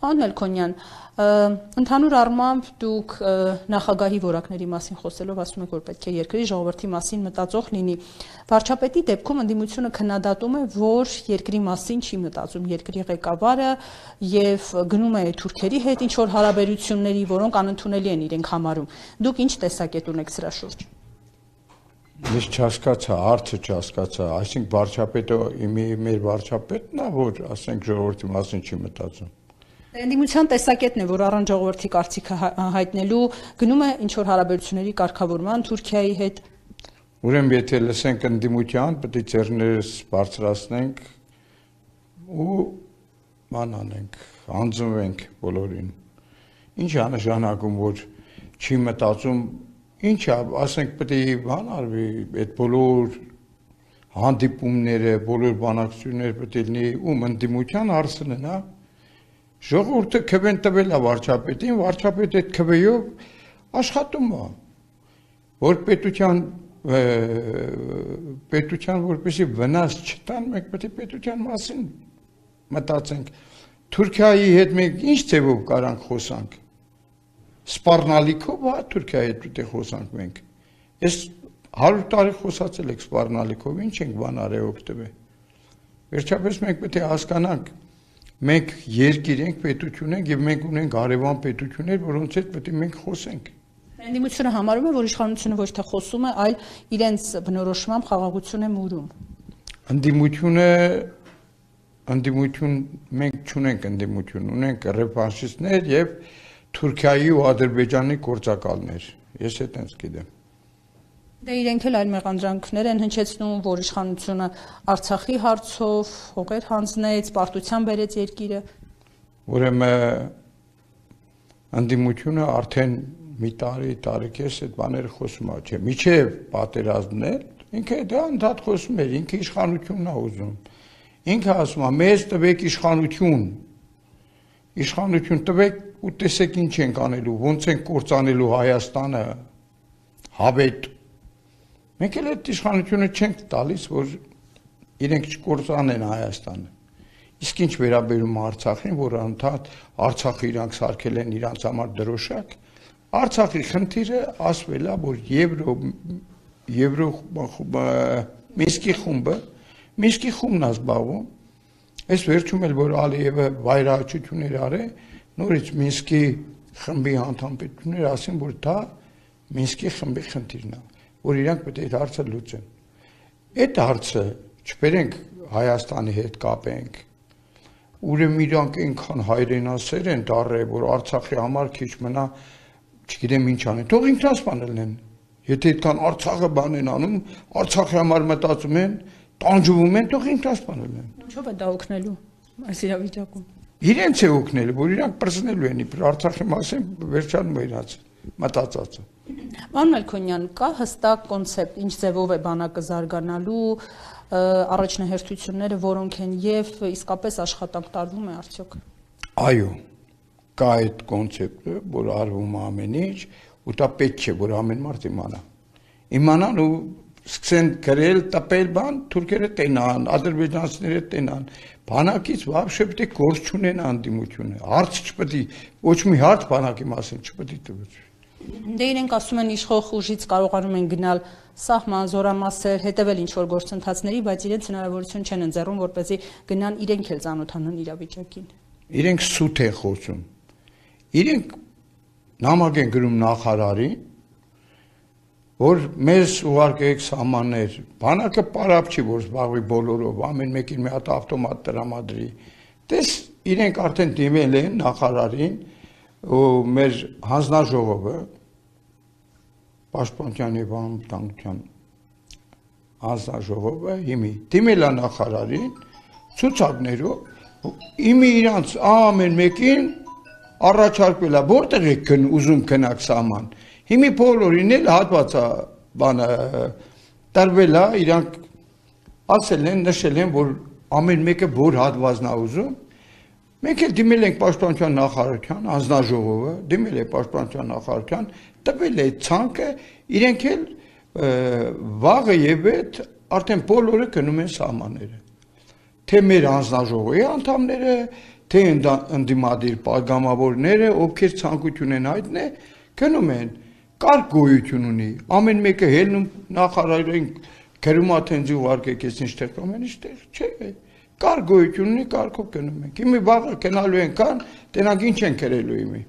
Պարոն Մելքոնյան, ընդհանուր առմամբ դուք նախագահի որակների մասին խոսելով ասում եք, որ պետք է երկրի ժողովրդի մասին մտածող լինի։ Վարչապետի դեպքում ընդդիմությունը քննադատում է, որ երկրի մասին չի մտածում երկրի ղեկավարը եւ գնում է թուրքերի հետ ինչ որ հարաբերությունների, որոնք անընդունելի են իրենք համարում։ Դուք ինչ տեսակետ ունեք սրա շուրջ։ Ես չհասկացա, հարցը չհասկացա, այսինքն վարչապետը մեր վարչապետն է, որ ասենք ժողովրդի մասին չի մտածում։ Ընդդիմության տեսակետն է, որ առանց ժողովրդի կարծիքը հայտնելու գնում է ինչ որ հարաբերությունների կարգավորման Թուրքիայի հետ։ Ուրեմն եթե լսենք ընդդիմության, պետք է ձեռներս բարձրացնենք ու ման անենք, հանձնվենք բոլորին։ Ինչ է նշանակում, որ չի մտածում, ինչ է, ասենք պետք է բան արվի, այդ բոլոր հանդիպումները, բոլոր բանակցությունները պետք է լինի ում ընդդիմության հարցն է, Ժողովուրդը քվեն տվել է վարչապետին, վարչապետը այդ քվեով աշխատում է, որ պետության որպեսզի վնաս չտան, մենք պետք է պետության մասին մտածենք։ Թուրքիայի հետ մենք ինչ ձևով կարանք խոսանք։ Սպառնալիքով, հա, Թուրքիայի հետ պետք է խոսանք մենք։ Այս 100 տարի խոսացել եք սպառնալիքով, ինչ ենք բան արել օգտվել։ Վերջապես մենք պետք է հասկանանք Մենք երկիր ենք, պետություն ենք եւ մենք ունենք հարևան պետություններ, որոնց հետ պետք է մենք խոսենք։ Ընդդիմությունը համարում է, որ իշխանությունը ոչ թե խոսում է, այլ իրենց բնորոշմամբ խաղաղություն է մուրում։ Ընդդիմություն մենք չունենք ընդդիմություն, ունենք ռեվանշիստներ եւ Թուրքիայի ու Ադրբեջանի գործակալներ։ Ես այդպես գիտեմ։ Դե իրենք էլ այլ մեղանդրանքներ են հնչեցնում, որ իշխանությունը Արցախի հարցով հողեր հանձնեց, պարտության բերեց երկիրը։ Ուրեմն ընդդիմությունը արդեն մի տարեկես այդ բաները խոսում է, չէ՞, միջև պատերազմն էլ, ինքը դա ընդհանուր խոսում էր, ինքը իշխանությունն է ուզում։ Ինքը ասում է, մեզ տվեք իշխանություն տվեք ու տեսեք ինչ ենք անելու, ոնց ենք կործանելու Հայաստանը, հավետ։ Մենք էլ այդ իշխանությունը չենք տալիս, որ իրենք չկործանեն Հայաստանը։ Իսկ ինչ վերաբերում Արցախին, որ անդադ Արցախը իրանք սարքել են իրանց համար դրոշակ, Արցախի խնդիրը ասվել է, որ Մինսկի խումբն է զբաղվում, այս վերջում էլ որ Ալիևը վայրահաչություններ արել, նորից Մինսկի խմբի անդամպետությունները ասին, որ դա Մինսկի խմբի խնդիրն է, որ իրանք պետք է այդ հարցը լուծեն։ Այդ հարցը չբերենք Հայաստանի հետ կապենք, ուրեմն իրանք այնքան հայրենասեր են դառել, որ Արցախի համար քիչ մնա, չգիտեմ ինչ անեն, թող ինքնասպանել են։ Եթե այդքան Արցախը բան են անում, Արցախի համար մտածում են, տանջվում են, թող ինքնասպանել են։ Ինչով է դա օգնելու այս իրավիճակում։ Իրենց է օգնելու, որ իրանք պրծնելու են, իբր Արցախի մասին վերջանում է իրաց մտածածը։ Պարոն Մելքոնյան, կա հստակ կոնցեպտ, ինչ ձևով է բանակը զարգանալու, առաջնահերթությունները որոնք են եւ իսկապես աշխատանք տարվում է արդյոք։ Այո, կա այդ կոնցեպտը, որ արվում է ամեն ինչ, ու դա պետք է, որ ամեն մարդ իմանա։ Իմանան ու սկսեն գրել, տպել բան, թուրքերը տենան, ադրբեջանցիները տենան, բանակից вообще պետք է գործ չունեն անդիմությունը, հարց չպետք է, ոչ մի հարց բանակի մասին չպետք է տվի։ Դե իրենք ասում են իշխող ուժից կարողանում են գնալ սահման, զորամասեր, հետևել ինչ-որ գործընթացների, բայց իրենց հնարավորություն չեն ընձեռում, որպեսզի գնան իրենք էլ ծանոթանան իրավիճակին։ Իրենք սուտ են խոսում։ Իրենք նամակ են գրում նախարարին, որ մեզ ուղարկեք սահմաններ, բանակը պարապ չի, որ զբաղվի բոլորով, ամեն մեկին մի հատ ավտոմատ տրամադրի։ Տես իրենք արդեն դիմել են նախարարին ու մեր հանձնաժողովը Պաշտպանության եւ անվտանգության հանձնաժողովը դիմել է նախարարին ցուցակներով իմի իրանց ամեն մեկին առաջարկվել է որտեղ եք ուզում գնաք սահման հիմի բոլորին էլ հատվածա բանը տրվել է իրանք ասել են նշել են որ ամեն մեկը որ հատվածն է ուզում մենք էլ դիմել ենք Պաշտպանության նախարարության հանձնաժողովը դիմել է Պաշտպանության նախարարության տվել է ցանկը իրենք էլ վաղը եւ այդ արդեն բոլորը գնում են սահմանները թե մեր հանձնաժողովի անդամները թե ընդդիմադիր падգամավորները, ովքեր ցանկություն են հայտնել, գնում են, կարգ գոյություն ունի, ամեն մեկը հելնում նախարարին գրում է թե ինձ ուղարկեք, ես ինչտեղ կամ ինչտեղ, չէ, կարգ գոյություն ունի, կարգով գնում ենք։ Իմի վաղը գնալու են կան, տենակ ինչ են գրելու իմի։